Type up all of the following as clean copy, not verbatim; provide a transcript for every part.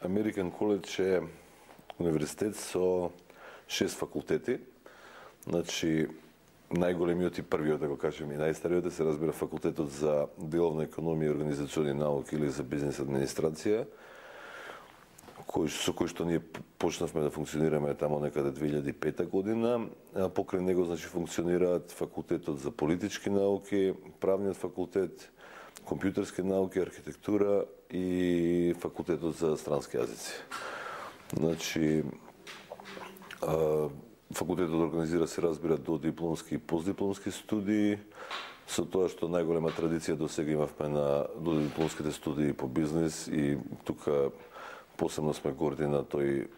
American College е универзитет со 6 факултети. Значи, најголемиот и првиот, да го кажем, и најстариот се разбира факултетот за деловна економија и организациони науки или за бизнес администрација, со кој што ние почнавме да функционираме тамо некаде 2005 година. Покрај него, значи, функционираат факултетот за политички науки, правниот факултет, компјутерски науки, архитектура и факултетот за странски јазици. Значи, факултетот организира, се разбира, до дипломски и постдипломски студии, со тоа што најголема традиција до сега имавме на додипломските студии по бизнес и тука посебно сме горди на тој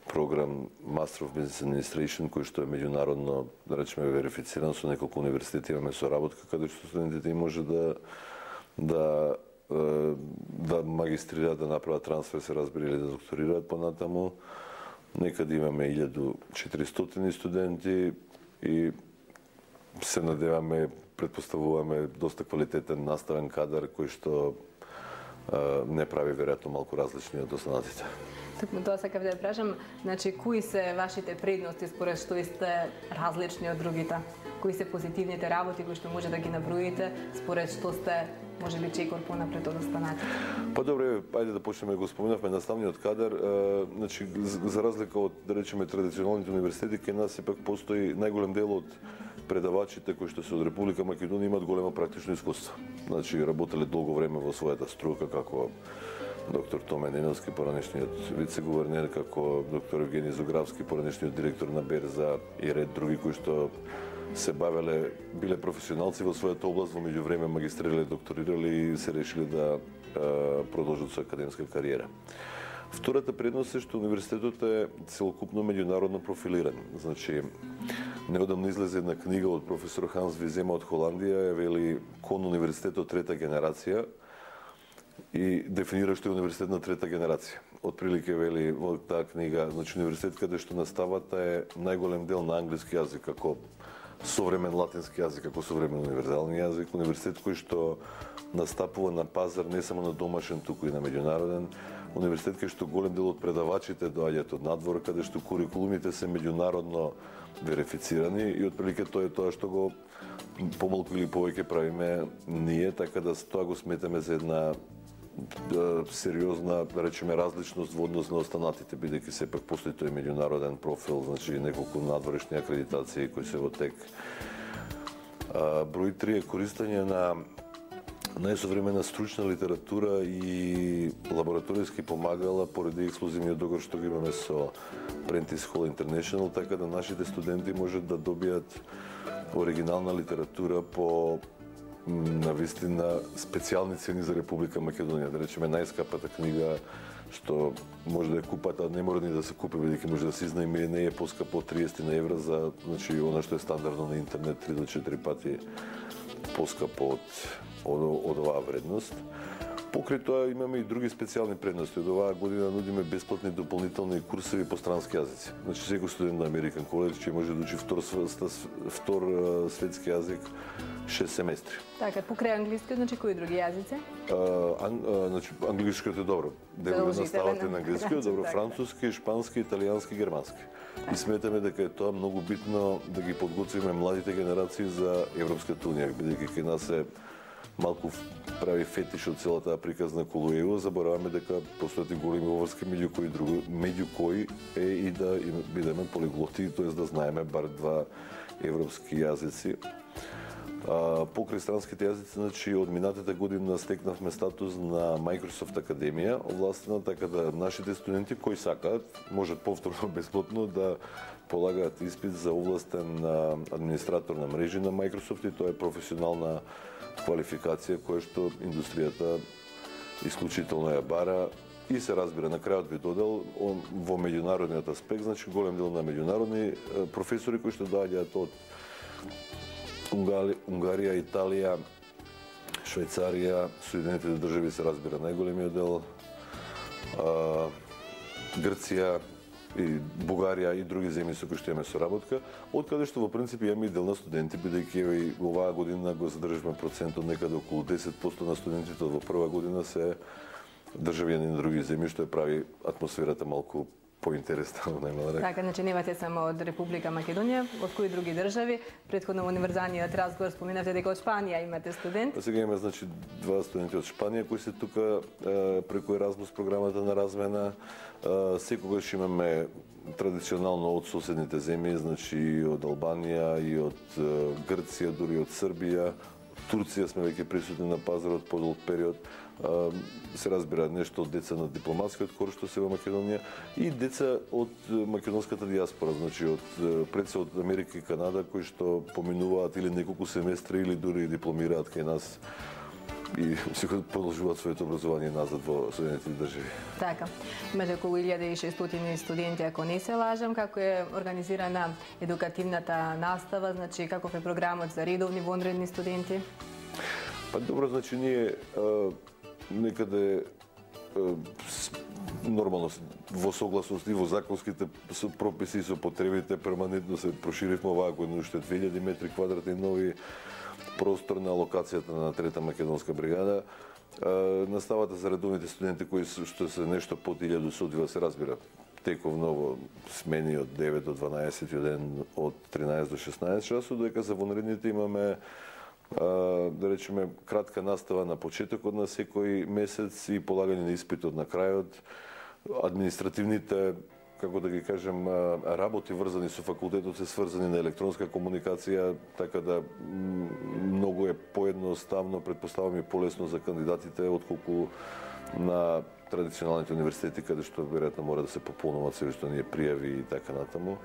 програм Master of Business Administration, кој што е меѓународно, да речеме, верифициран со неколку универзитети, имаме соработка каде што студентите може да магистрираат, да направат трансфер, се разбира, или да докторираат понатаму. Некаде имаме 1400 студенти и се надеваме, предпоставуваме доста квалитетен наставен кадар кој што не прави веројатно малку различни од останатите. Токму тоа сакав да ја прашам, значи кои се вашите предности според што сте различни од другите? Кои се позитивните работи кои што може да ги наброите според што сте можеби чекор понапред од останатите? Па добре, ајде да почнеме, го споменавме наставниот кадар, значи за разлика од, да речеме, традиционалните универзитети, кај нас сепак постои најголем дел од предавачите кои што се од Република Македонија имаат големо практично искуство. Значи работеле долго време во својата струка, како доктор Томе Неновски, поранешниот вице-гувернер, како доктор Евгений Зографски, поранешниот директор на Берза и ред други кои што се бавеле, биле професионалци во својата област, во меѓувреме магистрирале, докторирале и се решиле да продолжат со академска кариера. Втората предност е што универзитетот е целокупно меѓународно профилиран. Значи, неодамно излезе една книга од професор Ханс Визема од Холандија, вели кон универзитетот трета генерација и дефинира што е универзитет на трета генерација. Отприлике вели во таа книга, значи универзитет каде што наставата е најголем дел на англиски јазик како современ латински јазик, како современ универзални јазик, универзитет кој што настапува на пазар не само на домашен, туку и на меѓународен, универзитет кај што голем дел од предавачите доаѓаат од надвор, каде што курикулумите се меѓународно верифицирани и отприлике тоа е тоа што го помалку или повеќе правиме ние, така да тоа го сметаме за една сериозна, да речеме, различност во однос на останатите, бидејќи сепак постои тој меѓународен профил, значи неколку надворешни акредитации кои се во тек. Број 3 е користење на најсовремена стручна литература и лабораторијски помагала поради ексклузивниот договор што го имаме со Prentice Hall International, така да нашите студенти можат да добијат оригинална литература по навистина специјални цени за Република Македонија. Да речеме, најскапата книга што може да ја купат, а не мора ни да се купи, бидејќи може да се изнајми, не е поскапо од 30 на евра за, значи, она што е стандардно на интернет 3 до 4 пати поскапо од оваа вредност. Покрај тоа имаме и други специјални предности. Од оваа година нудиме бесплатни дополнителни курсеви по странски јазици. Значи секој студент на American College ќе може да учи втор светски јазик 6 семестри. Така, покрај англиски, значи кои други јазици? Значи англискиот е добро. Делот наставате на англискиот, добро, француски, шпански, италијански, германски. И сметаме дека е тоа многу битно да ги подготвиме младите генерации за Европската унија, бидејќи кај нас е малку прави фетиш од целата приказна околу ЕУ, забораваме дека постојат и големи обврски меѓу кои е и да бидеме полиглоти, т.е. да знаеме бар 2 европски јазици. Покрај странските јазици, значи од минатата година стекнавме статус на Microsoft Академија, овластена, така да нашите студенти кои сакаат можат повторно бесплатно да полагаат испит за овластен администратор на мрежи на Microsoft и тоа е професионална квалификација која што индустријата исклучително ја бара и се разбира. На крајот би додал во меѓународниот аспект, значи голем дел на меѓународни професори кои што доаѓаат од Унгарија, Италија, Швајцарија, Соединетите држави се разбира најголемиот дел, Грција и Бугарија и други земји со кои што имаме соработка, од каде што во принцип имаме и дел на студенти, бидејќи и оваа година го задржавме процентот некаде околу 10% на студентите во прва година се државјани на други земји, што ја прави атмосферата малку поинтересна, најмала река. Така, значи немате само од Република Македонија, од кои други држави? Претходно во универзалниот разговор споменавте дека од Шпанија имате студент. Сега имаме значи два студенти од Шпанија кои се тука преку Еразмус програмата на размена. Секогаш имаме традиционално од соседните земји, значи и од Албанија, и од Грција, дури од Србија. Турција сме веќе присутни на пазарот подолг период. Се разбира нешто од деца на дипломатскиот кор што се во Македонија и деца од македонската диаспора, значи од предсе од Америка и Канада кои што поминуваат или неколку семестри или дури дипломираат кај нас и се продолжуваат своето образование назад во Соединетите држави. Така, имате околу 1600 студенти, ако не се лажам. Како е организирана едукативната настава, значи каков е програмот за редовни вонредни студенти? Па добро, значи ние некаде нормално во согласност и во законските прописи и со потребите перманентно се проширивме оваа година уште 2000 метри квадратни нови простор на локацијата на Трета македонска бригада. Наставата за редовните студенти кои што се нешто под 1000 се одвива, се разбира тековно во смени од 9 до 12 и од 13 до 16 часот, додека за вонредните имаме да речеме кратка настава на почетокот на секој месец и полагање на испитот на крајот. Административните, како да ги кажем, работи врзани со факултетот се сврзани на електронска комуникација, така да многу е поедноставно, претпоставам и полесно за кандидатите отколку на традиционалните универзитети каде што веројатно мора да се пополнуваат се што ние пријави и така натаму.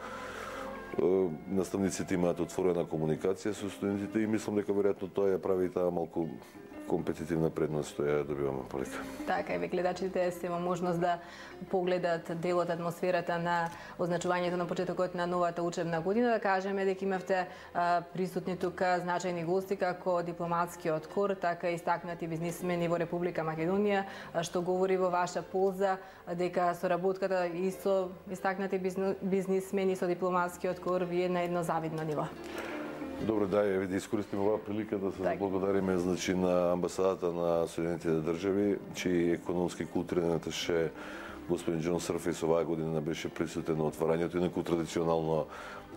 Наставниците имаат отворена комуникација со студентите и мислам дека веројатно тоа ја прави таа малку компетитивна предност што ја добиваме полека. Така, и гледачите се во можност да погледат дел од атмосферата на означувањето на почетокот на новата учебна година. Да кажеме дека имавте присутни тука значајни гости како дипломатскиот кор, така и истакнати бизнисмени во Република Македонија, што говори во ваша полза дека соработката и со истакнати бизнисмени со дипломатскиот кор ви е на едно завидно ниво. Добро, да, ја да искористим оваа прилика да се благодариме значи на амбасадата на Соединетите држави, чиј економски и културен аташе господин Џон Срфис оваа година беше присутен на отварањето, инаку традиционално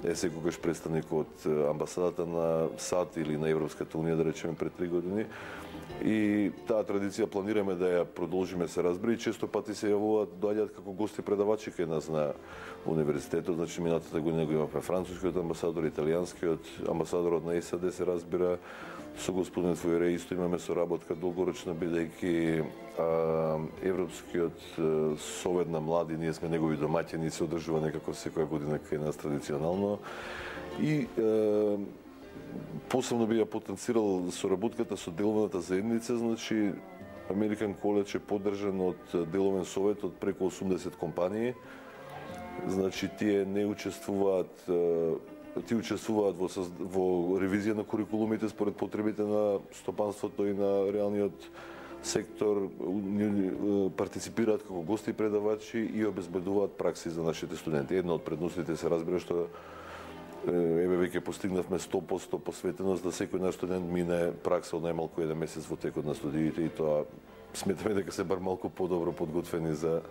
е секогаш представник од амбасадата на САД или на Европската унија, да речеме, пред 3 години. И таа традиција планираме да ја продолжиме, се разбира, и често пати се јавуваат, доаѓаат како гости предавачи кај нас на универзитетот. Значи минатата година го имавме францускиот амбасадор, италијанскиот амбасадорот на САД, се разбира, со господин Фуере исто имаме соработка долгорочна, бидејќи Европскиот совет на млади, ние сме негови домаќини, се одржува некако секоја година кај нас традиционално. И посебно би ја потенцирал соработката со деловната заедница, значи American College е поддржан од деловен совет од преку 80 компании. Значи тие не учествуваат, учествуваат во ревизија на курикулумите според потребите на стопанството и на реалниот сектор, партиципираат како гости и предавачи и обезбедуваат пракси за нашите студенти. Една од предностите се разбира што еве веќе постигнавме 100% посветеност да секој наш студент мине пракса од најмалку 1 месец во текот на студиите и тоа сметаме дека се бар малку подобро подготвени за